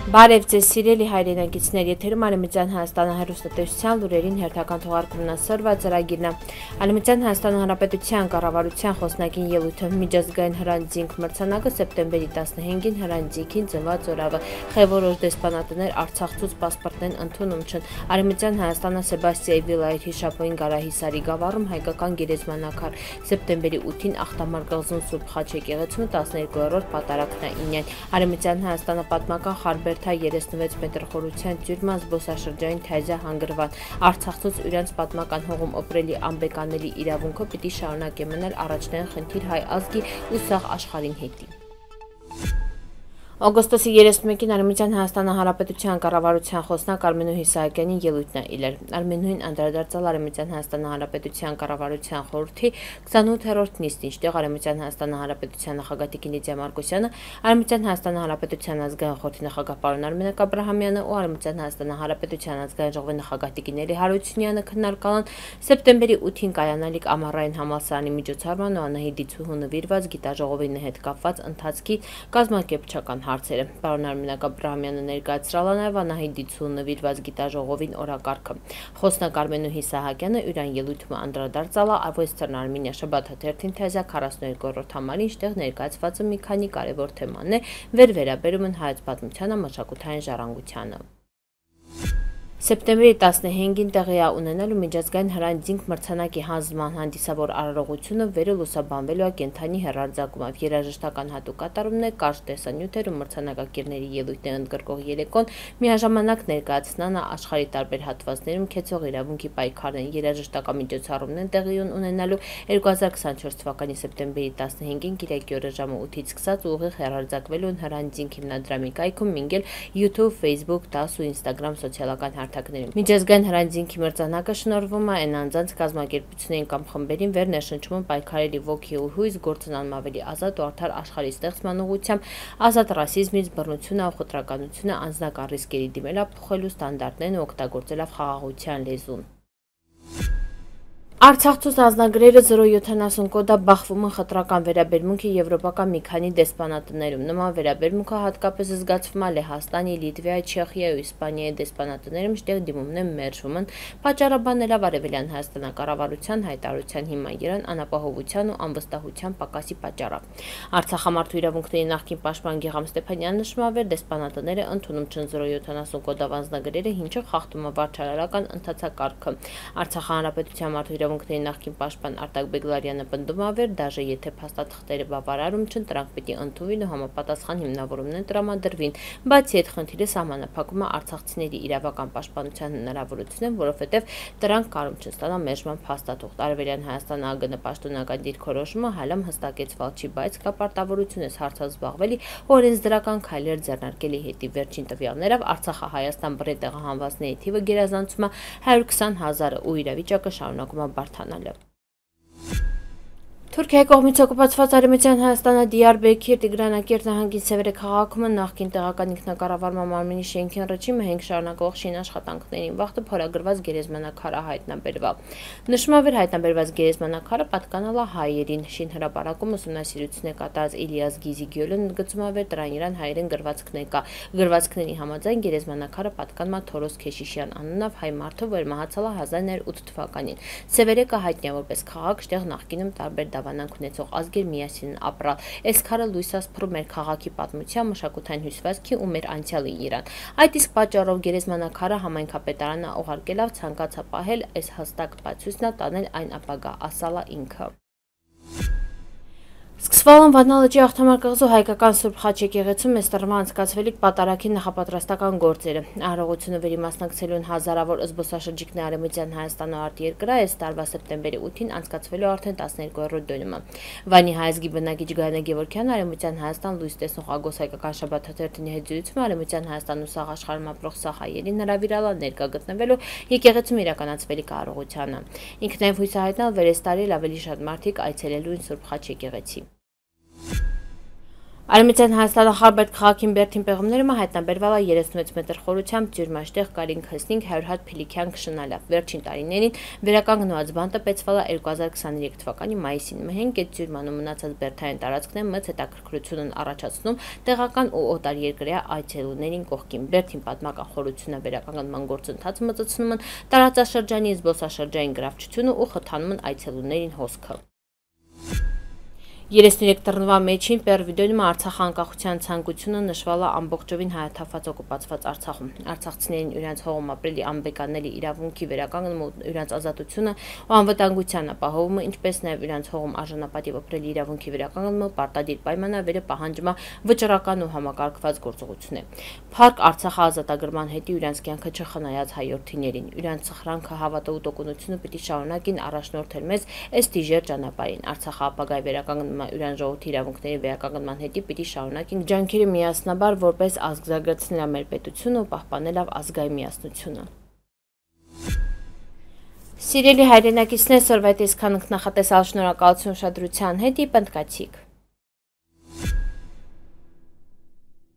Բարև ձեզ սիրելի հայրենակիցներ, եթերում Արևմտյան Հայաստանի հեռուստատեսության լուրերին հերթական թողարկումն ասորվա ծրագիրն է։ Արևմտյան Հայաստանի Հանրապետության կառավարության խոսնակին ելույթը միջազգային հրանձինք մրցանակը սեպտեմբերի 15-ին հրանձինքին ծնված օրավը խևորոշ դեսպանատներ Արցախցուց պասպորտներն ընդունում չն։ Արևմտյան Հայաստանը Սեբաստիայի վիլայեթ հիշապույն Գարահիսարի գավառում հայկական գերեզմանակար սեպտեմբերի 8-ին Ախտամար կղզում Սուրբ Խաչ եկեղեցում 12-րդ պատարագն է ինյան։ Արևմտյան Հայաստանը պատմական Խարբեր 36 մետր խորության տյուրման զբոսաշրջային թայզա հանգրվան Արցախցուց իրենց պատմական հողում օպրելի անբեկանելի իրավունքը պիտի շարունակի մնալ առաջնային խնդիր հայ ազգի ու սաղ աշխարհին հետի։ Օգոստոսի 31-ին Արևմտյան Հայաստանի Հանրապետության կառավարության խոսնակ Արմենուհի Իսահակյանի ելույթն է իլեր։ Արմենուհին անդրադարձել Արևմտյան Հայաստանի Հանրապետության կառավարության խորհրդի 28-րդ նիստին, ինչտեղ Արևմտյան Հայաստանի Հանրապետության նախագահ Տիկին Լիդիա Մարկոսյանը, Արևմտյան Հայաստանի Հանրապետության ազգային խորհրդի նախագահ պարոն Արմենակ Աբրահամյանը ու Արևմտյան Հայաստանի Հանրապետության ազգային ժողովի նախագահ Տիկին Էլի Հարությունյանը քննարկան սեպտեմբերի 8-ին կայանալիք ամառային համալսարանի միջոցառման ու Անահիտ Դիցուհու նվիրված գիտաժողովի հետ կապված ընթացքի կազմակերպչական հարցերը։ Պարոն Արմենակ Աբրահամյանը ներկայացրել է նաև Անահիտ Դիցուհու նվիրված գիտաժողովին օրակարգը։ Խոսնակ Արմենուհի Իսահակյանը յուրան ելույթում անդրադարձել է Western Armenia շաբաթաթերթին թեզա 42-րդ համարին, ինչտեղ ներկայացված մի քանի կարևոր թեմաներ վերաբերում են հայոց պատմությանը, մշակութային ժառանգությանը։ Սեպտեմբերի 15-ին տեղի է ունենալու միջազգային հրանձինք մրցանակի հանձնման հանդիսավոր արարողությունը վերլուսաբանվելու է կենդանի հեռարձակումով։ Երաժշտական հատուկ կատարումներ, կարճ տեսանյութեր ու մրցանակակիրների ելույթներ ընդգրկող երեկոն միաժամանակ ներկայացնան աշխարհի տարբեր հատվածներում քեցող իրավունքի պայքարն երաժշտական միջոցառումներ տեղի ունենալու 2024 թվականի սեպտեմբերի 15-ին կիրակի օրը ժամը 8-ից սկսած ուղիղ հեռարձակվելու են հրանձինք հիմնադրամի կայքում, մինչև YouTube, Facebook, TASS ու Instagram սոցիալական Միջազգային հրանձինքի մրցանակը շնորհվում է այն անձանց կազմակերպություններին կամ խմբերին վերներշնչում պայքարելի ոգի ու հույս գործընանում ավելի ազատ ու արդար աշխարհի ստեղծման ուղղությամբ, ազատ ռասիզմից, բռնությունը ու խտրականությունը, անձնական ռիսկերի դիմելափոխելու ստանդարտներն ու օգտագործելով խաղաղության լեզուն։ Արցախցուց ազնագրերը 070 կոդա բախվում են խտրական վերաբերմունքի եվրոպական մի քանի դեսպանատներում։ Նման վերաբերմունքը հատկապես զգացվում է Լեհաստանի, Լիտվայի, Չեխիայի ու Իսպանիայի դեսպանատներում, ինչտեղ դիմումներ մերժվում են, պատճառաբանել Արևելյան Հայաստանի կառավարության հայտարարության հիման երան անապահովության ու անվստահության պակասի պատճառով։ Արցախամարտու իրավունքների նախկին պաշտպան Գեգամ Ստեփանյանն նշում է, որ դեսպանատները ընդունում չեն 070 կոդով ազնագրերը, ինչը խախտում է վարչարարական ընթացակարգը։ Արցախի հանրապետության մարդու իրավունքների նախկին պաշտպան Արտակ Բեգլարյանը պնդում է, որ դաժե եթե փաստաթղթերը բավարարում չեն, դրանք պիտի ընդունվին ու համապատասխան հիմնավորումներ տրամադրվին։ Բացի այդ խնդիրը սահմանափակում է արցախցիների իրավական պաշտպանության հնարավորությունը, որովհետև դրանք կարում չեն ստանալ մերժման փաստաթուղթ։ Արևելյան Հայաստանի ԱԳՆ պաշտոնական դիրքորոշումը հալամ հստակեցվել չի, բայց կա պարտավորություն է հարցով զբաղվելի օրենսդրական քայլեր ձեռնարկելի հետի։ Վերջին տվյալներով Արցախը Հայաստան բռի տեղահանվածների թիվը գերազանցում է 120,000-ը ու իրավիճակը շարունակում է բարդանալը։ Թուրքիայի կողմից օկուպացված Արևմտյան Հայաստանը Դիարբեկիր Տիգրանակերտ նահանգի Սևերը քաղաքում նախկին տեղական ինքնակառավարման մարմնի շենքին ռեժիմը 5 շարունակող շին աշխատանքներին վաղտը փորագրված գերեզմանակարը հայտնաբերվել։ Նշվում է, որ հայտնաբերված գերեզմանակարը պատկանել է հայերին։ Շին հրապարակում ուսումնասիրություն է կատարած Իլիաս Գիզիգյոլը ընդգծում է, որ դրան իրան հայերեն գրվածքներ կա։ Գրվածքների համաձայն գերեզմանակարը պատկանել է Թորոս Քեշիշյան անունով հայ մարդու, որ մահացել է 1908 թվականին։ Սևերեկը հայտնի է որպես քաղաք, որտեղ նախկինում տարբեր դավանանք ունեցող ազգեր միասին ապրալ։ Այս քարը լույս է սփռում մեր քաղաքի պատմության, մշակութային հյուսվածքի ու մեր անցյալի իրան։ Այդ իսկ պատճառով գերեզմանակարը համայնքապետարանը ուղարկելով ցանկացա պահել այս հստակ բացույցն է տանել այն ապագա, ասալա ինքը։ Սկսվել են Վանա լճի Ախտամար կղզու հայկական Սուրբ Խաչ եկեղեցում այս տարվա անցկացվելիք պատարագի նախապատրաստական գործերը։ Արարողությունը վերիմասնակցելու են հազարավոր զբոսաշրջիկներ Արևմտյան Հայաստանի արտերկրά, այս տարվա սեպտեմբերի 8-ին անցկացվելու արդեն 12-րդ դոնումը։ Վանի հայազգի բնակիչ Գայանե Գևորգյանը Արևմտյան Հայաստան լույս տեսնող Ագոս հայկական շաբաթաթերթի հետ զրույցում Արևմտյան Հայաստան ու սաղ աշխարհում ապրող սաղ հայերին հրավիրել է ներկա գտնվելու եկեղեցում իրականացվելիք արարողությանը։ Ինքն նաև հույս է հայտնել, որ այս տարի ավելի շատ մարդիկ այցելելու են Սուրբ Խաչ եկեղեցի։ Արմենիան Հայաստանը Խարբերդ քաղաքին Բերդին պեղումներումը հայտնաբերվել է 36 մետր խորությամբ ջրմաշտեղ կարին քսնինք 100 հատ փիլիքյան քշնալավ։ Վերջին տարիներին վերականգնված բանտը պետցվել է 2023 թվականի մայիսին։ Մհենգ այդ ջրմանում մնացած բերդային տարածքներն մեծ հետաքրքրություն են առաջացնում տեղական ու օտարերկրյա այցելուներին կողքին։ Բերդին պատմական խորությունը վերականգնման գործընթացը մտցնում են տարածաշրջանի զբոսաշրջային գրավչությունը ու խթանում են այցելուներին հոսքը։ 33 տռնվա մեջին պեր վիդեոյում Արցախի անկախության ցանկությունը նշվել է ամբողջովին հայաթափված օկուպացված Արցախում։ Արցախցիներին իրենց հողում ապրելի անբեկանելի իրավունքի վերականգնումը ու իրենց ազատությունը ու անվտանգության ապահովումը, ինչպես նաև իրենց հողում արժանապատիվ ապրելի իրավունքի վերականգնումը պարտադիր պայմանավորը պահանջում է վճռական ու համակարգված գործողություն է։ Փառք Արցախի ազատագրման հետի իրենց կյանքը չխնայած հայրենիներին, իրենց սխրանքը, հավատը ու տոկունությունը պիտի շարունակին առաջնորդել մեզ այս դիժեր ճանապարհին։ Արցախի ապագայի վերականգնումը իրան ժողովրդի իրավունքների վերականգնման հետի պիտի շարունակենք ջանքերը միասնաբար որպես ազգ զարգացնել մեր պետությունը ու պահպանել ազգային միասնությունը։ Սիրելի հայրենակիցներ, սորվայտ այսքան նախատեսալ շնորհակալություն ուշադրության հետ, պնդկացիք։